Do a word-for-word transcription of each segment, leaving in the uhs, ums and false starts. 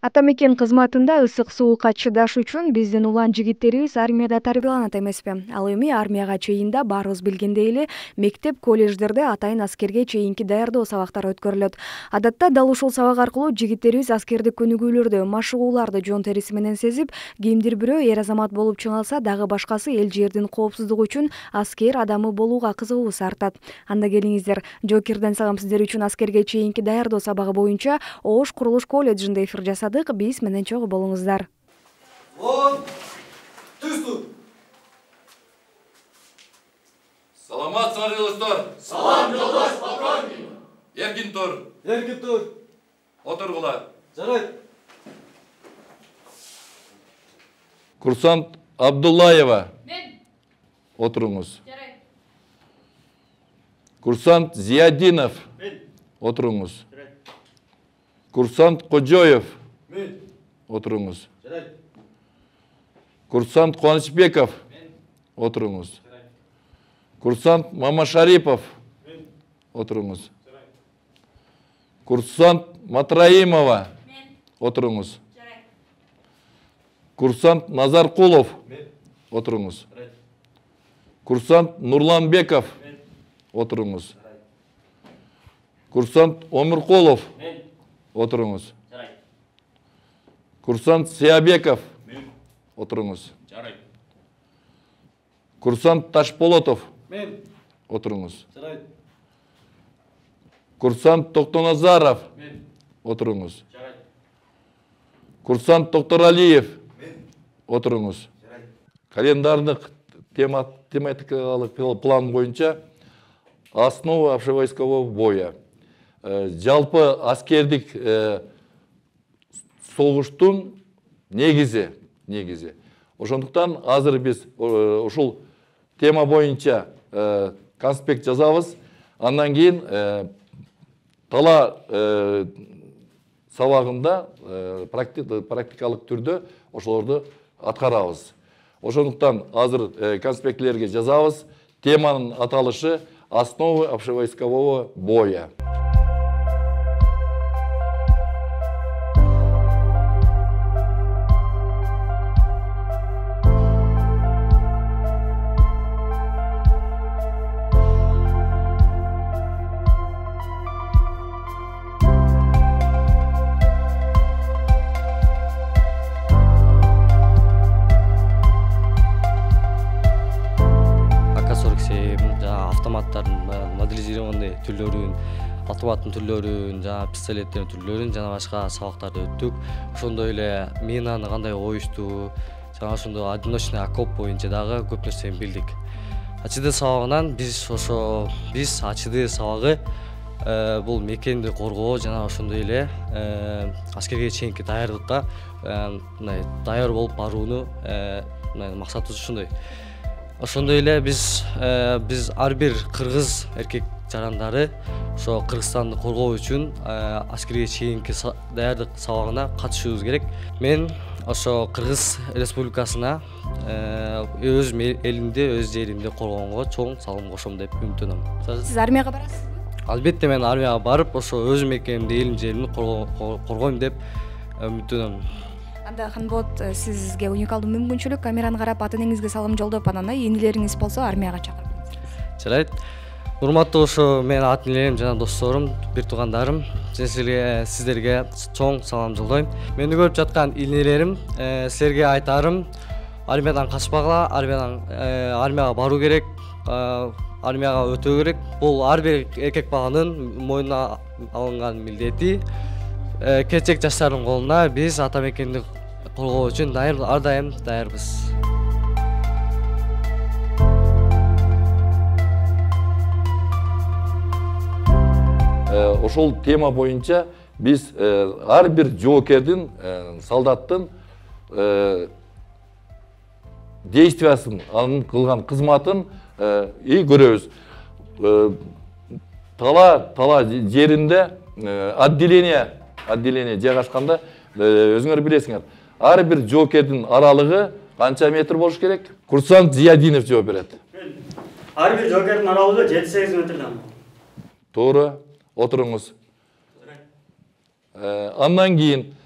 Атамекен кызматында ысык суукка чыдаш үчүн биздин улан жигиттерибиз армияда тарбияланат эмеспи? Ал эми армияга чейинде баарыбыз билгендей эле мектеп, колледждерде атайын аскерге чейинки даярдоо сабактары өткөрүлөт. Адатта дал ушул сабак аркылуу жигиттерибиз аскердик көнүгүүлөрдү, машыгууларды жон териси менен сезип, кимдир бирөө эр азамат болуп чыга алса, дагы башкасы эл жердин коопсуздугу үчүн аскер адамы болууга кызыгуусу артат. Анда келиңиздер, жоокерден салам сиздер үчүн аскерге чейинки даярдоо сабагы боюнча Ош курулуш колледжинде эфир жасадык. Биз менен чогуу болуңуздар. Он, түз тур. Саламатсыңар достор. Салам жолдош полковник. Эркин тур. Эркин тур. Отургула. Жарайт. Курсант Абдуллаева. Мен. Отуруңуз. Жарайт. Курсант Зиядинов. Мен. Отуруңуз. Жарайт. Курсант Кожоев. Мен. Отуруңуз. Жарайт. Курсант Кубанычбеков. Мен. Отуруңуз. Жарайт. Курсант Мамашарипов. Мен. Отуруңуз. Жарайт. Курсант Матраимова. Мен. Отуруңуз. Жарайт. Курсант Назаркулов. Мен. Отуруңуз. Жарайт. Курсант Нурланбеков. Мен. Отуруңуз. Жарайт. Курсант Омуркулов. Мен. Отуруңуз. Жарайт. Курсант Сиябеков. Мен. Отуруңуз. Жарайт. Курсант Ташполотов. Мен. Отуруңуз. Жарайт. Курсант Токтоназаров. Мен. Отуруңуз. Жарайт. Курсант Токторалиев. Мен. Отуруңуз. Жарайт. Календардык тема тематикалык план боюнча основа общевойскового боя. Жалпы аскердик согуштун негизи, негизи. Ошондуктан азыр биз ушул тема боюнча конспект жазабыз. Андан кийин тала сабагында практикалык түрдө ошолорду аткарабыз. Ошондуктан азыр конспектлерге жазабыз. Теманын аталышы основы общевойскового боя. Автоматтардын моделизированный түрлөрүн, автоматтын түрлөрүн, жана пистолеттердин түрлөрүн жана башка сабактарды өттүк. Ошондой эле минаны кандай коюшту, жана ошондой одиночный окоп боюнча дагы көп нерсени билдик. АЧД сабагынан биз ошо биз АЧД сабагы бул мекенди коргоо жана ошондой эле аскерге чейинки даярдыкка мындай даяр болуп барууну максатыбыз ушундай. Ошондой эле биз биз ар бир кыргыз эркек жарандары ошо Кыргызстанды коргоо үчүн аскерге чейинки даярдык сабагына катышыбыз керек. Мен ошо Кыргыз Республикасына өз элимди, өз жеримди коргоонго чоң салым кошом деп үмүттөнөм. Сиз армияга барасызбы? Албетте мен армияга барып, ошо өз мекенимди, элим жеримди коргойм деп үмүттөнөм. Анда Ханбот, сизге уникалдуу мүмкүнчүлүк, камераны карап ата энеңизге салым жолдоп, анан энелериңиз болсо армияга чакырып. Жарайт. Урматтуу ошо менин ата энелерим жана досторум, бир туугандарым, силерге сиздерге чоң салам жолдойм. Мени көрүп жаткан энелерим, силерге айтарым, армиядан качпагыла, армиядан армияга баруу керек, армияга өтөө керек. Бул ар бир эркек баланын мойнуна алынган милдети. Келечек жаштардын колуна биз атамекенди коргоо үчүн ар дайым даярбыз. Ошол тема боюнча биз ар бир жоокердин, солдаттын действиясын, анын кылган кызматын и көрөбүз. Тала тала жеринде отделение отделение жайгашканда өзүңөр билесиңер. Ар бир жоокердин аралыгы канча метр болуш керек? Курсант Зиядинов жооп берет. Ар бир жоокердин аралыгы жети сегиз метрден. Туура. Отуруңуз. Андан кийин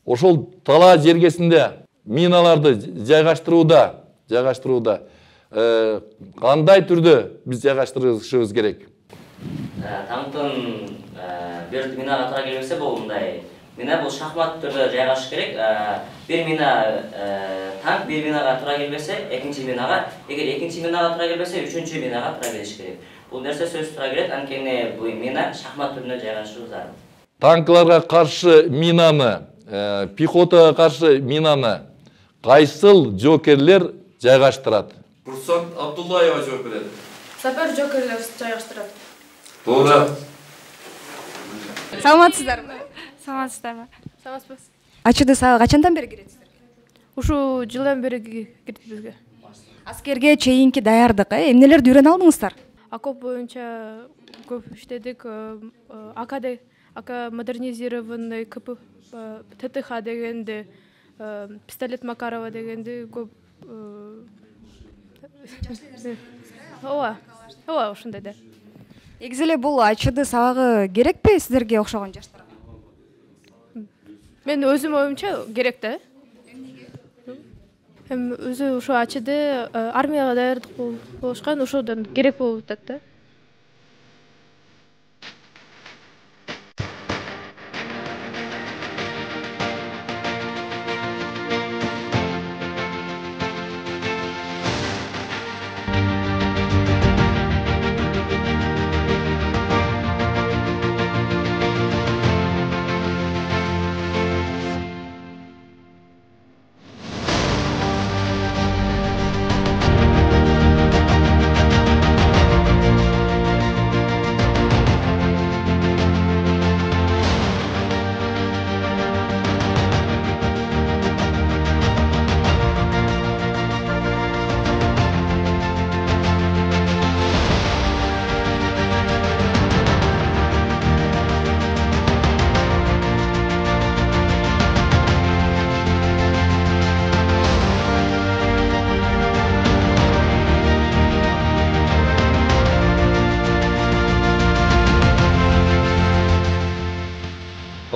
ошол талаа жергесинде миналарды жайгаштырууда жайгаштырууда кандай түрдө биз жайгаштырышыбыз керек? Танктын бир минага туура келбесе бул мындай. Мина бул шахмат түрдө жайгашыш керек. Бир мина танк бир минага туура келбесе, экинчи минага, эгер экинчи минага туура келбесе, үчүнчү минага туура келиш керек. Бул нерсе сөзсүз туура келет, анткени бул мина шахмат түрүндө жайгашуу зарыл. Танкларга каршы минаны, пехотага каршы минаны кайсыл жокерлер жайгаштырат? Курсант Абдуллаева жооп берет. Сапер жокерлер жайгаштырат. Туура. Саламатсыздарбы? Саламатсыздарбы? Саламатсызбы? АЧД сага качандан бери киретсиздер? Ушул жылдан бери кирди бизге. Аскерге чейинки даярдык, эмнелерди үйрөнө алдыңыздар? Окоп боюнча көп иштедик. АКД, АК модернизированный КП, ТТХ дегенди, пистолет Макарова дегенди көп. Ооба, ооба ушундай да. Негизи эле бул АЧД сабагы керекпи сиздерге окшогон жаштарга? Мен өзүм оюмча керек да. Эми өзү ошо АЧД армияга даярдык болушкан, ошодон керек болуп атат да.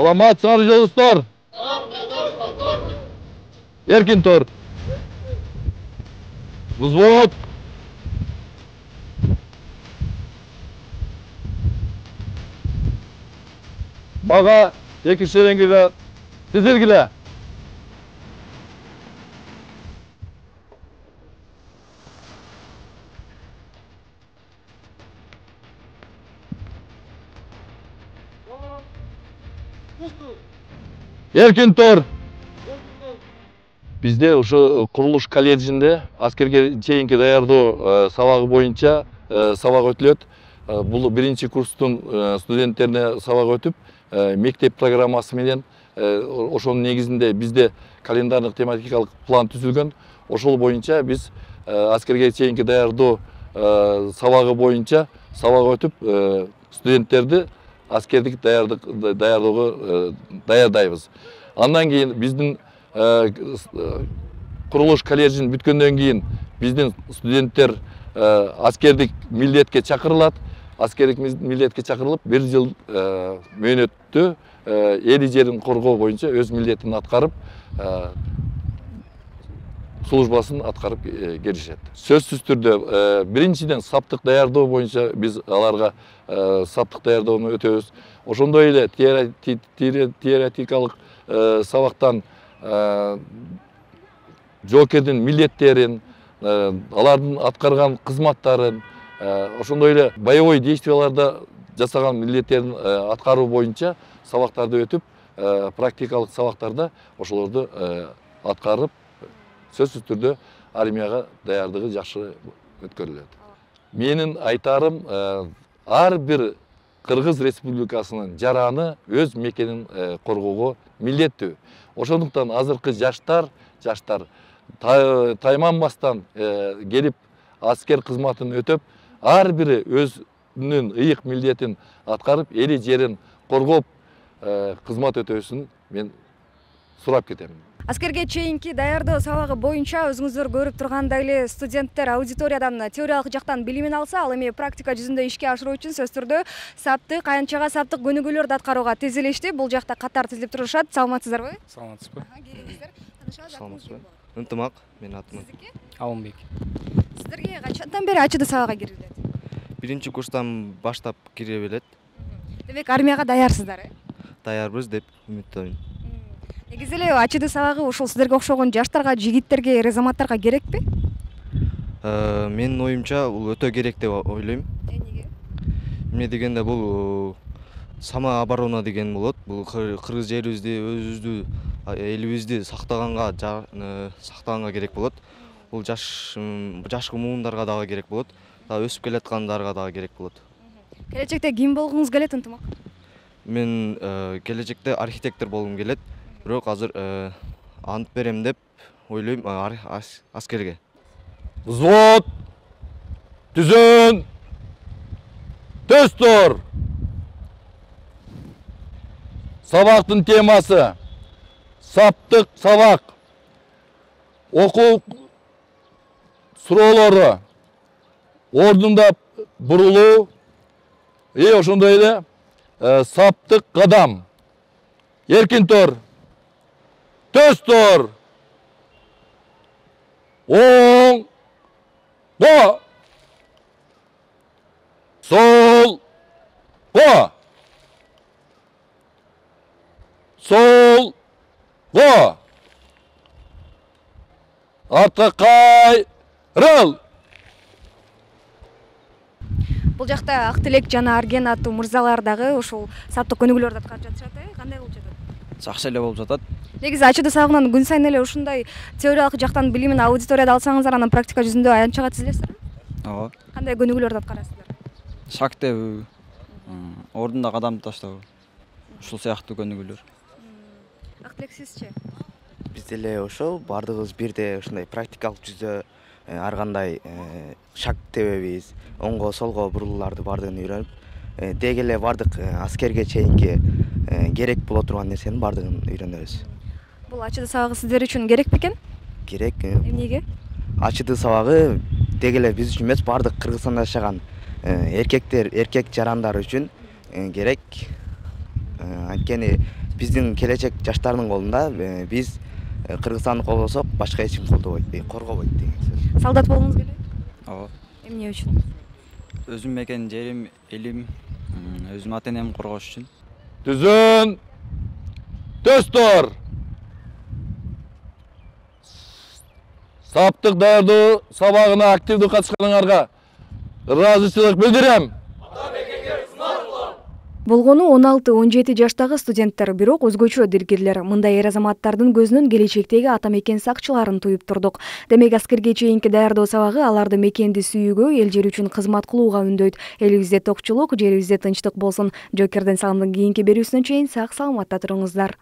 Саламатсыңар жолдоштор. Эркин тур. Взвод. Бага эки шеренгеге тизилгиле. Эркин тур. Бизде ошо курулуш колледжинде аскерге чейинки даярдоо сабагы боюнча сабак өтүлөт. Бул биринчи курстун студенттерине сабак өтүп, мектеп программасы менен ошонун негизинде бизде календардык тематикалык план түзүлгөн. Ошол боюнча биз аскерге чейинки даярдоо сабагы боюнча сабак өтүп, студенттерди аскердик даярдоого даярдайбыз. Андан кийин биздин курулуш колледжин бүткөндөн кийин биздин студенттер аскердик милдетке чакырылат. Аскердик милдетке чакырылып, бир жыл мөөнөттө эли жерин коргоо боюнча өз милдетин аткарып, службасын аткарып келишет. Сөзсүз түрдө биринчиден саптык даярдоо боюнча биз аларга саптык даярдоону өтөбүз. Ошондой эле теоретикалык сабактан жоокердин милдеттерин, алардын аткарган кызматтарын, ошондой эле боевой действияларда жасаган милдеттерин аткаруу боюнча сабактарды өтүп, практикалык сабактарда ошолорду аткарып, сөзсүз түрдө армияга даярдыгы жакшы өткөрүлөт. Менин айтарым, ар бир Кыргыз Республикасынын жараны өз мекенин коргоого милдеттүү. Ошондуктан азыркы жаштар, жаштар тайманбастан келип аскер кызматын өтөп, ар бири өзүнүн ыйык милдетин аткарып, эли жерин коргоп кызмат өтөсүн мен сурап кетем. Аскерге чейинки даярдоо сабагы боюнча өзүңүздөр көрүп тургандай эле студенттер аудиториядан теориялык жактан билимин алса, ал эми практика жүзүндө ишке ашыруу үчүн сөзсүз түрдө саптык, аянтчага саптык көнүгүүлөрдү аткарууга тизилишти. Бул жакта катар тизилип турушат. Саламатсыздарбы? Саламатсызбы? Келиңиздер. Саламатсызбы? Ынтымак, менин атым Алымбек. Сиздерге качандан бери ачыды сабакка кирилет? Биринчи курстан баштап кире белет. Демек армияга даярсыздар, э? Даярбыз деп үмүттөнөм. Негизи эле ачыды сабагы ушул сиздерге окшогон жаштарга, жигиттерге, эр азаматтарга керекпи? Менин оюмча бул өтө керек деп ойлойм. Эмнеге? Эмне дегенде бул самооборона деген болот. Бул кыргыз жерибизди, өзүбүздү, элибизди сактаганга, сактаганга керек болот. Бул жаш жашкы муундарга дагы керек болот. Дагы өсүп келаткандарга дагы керек болот. Келечекте ким болгуңуз келет, Ынтымак? Мен келечекте архитектор болгум келет. Бирок азыр ант берем деп ойлойм аскерге. Взвод, түзөн, төстөр. Сабактын темасы саптык сабак. Окуу суроолору ордунда бурулуу, и ошондой эле саптык кадам. Эркин тор. Төстөр. Оң. Го. Сол. Го. Сол. Го. Артка кайрыл. Бул жакта Актилек жана Арген аттуу мырзалар дагы ушул саптык көнүгүүлөрдү аткарып жатышат, э? Кандай болуп жатат? Жакшы эле болуп жатат. Негизи ачыды сабагынан күн сайын эле ушундай теориялык жактан билимин аудиторияда алсаңыздар, анан практика жүзүндө аянтчага тизилесиздерби? Ооба. Кандай көнүгүүлөрдү аткарасыздар? Шаг тебүү, ордунда кадам таштоо, ушул сыяктуу көнүгүүлөр. Актилек, сизчи? Биз деле ошол баардыгыбыз бирдей ушундай практикалык жүздө ар кандай шаг тебебиз, оңго солго бурулууларды баардыгын үйрөнүп, деги эле баардык аскерге чейинки керек боло турган нерсенин баардыгын үйрөнөбүз. Бул ачыды сабагы сиздер үчүн керек бекен? Керек. Эмнеге? Ачыды сабагы деги эле биз үчүн эмес, баардык Кыргызстанда жашаган эркектер, эркек жарандар үчүн керек. Анткени биздин келечек жаштардын колунда, биз Кыргызстанды колдосок, башка эч ким колдобойт, коргобойт деген сөз. Солдат болгуңуз келеби? Ооба. Эмне үчүн? Өзүм мекен жерим, элим, өзүм ата энемди коргош үчүн. Түзөн, төстөр. Саптык даярдоо сабагына активдүү катышканыңарга ыраазычылык билдирем. Болгону он алты он жети жаштагы студенттер, бирок өзгөчө диргирлер. Мындай эр азаматтардын көзүнөн келечектеги ата мекен сакчыларын туюп турдук. Демек аскерге чейинки даярдоо сабагы аларды мекенди сүйүүгө, эл жер үчүн кызмат кылууга үндөйт. Элибизде токчулук, жерибизде тынчтык болсун. Жокерден саламдын кийинки берүүсүнөн чейин сак саламатта туруңуздар.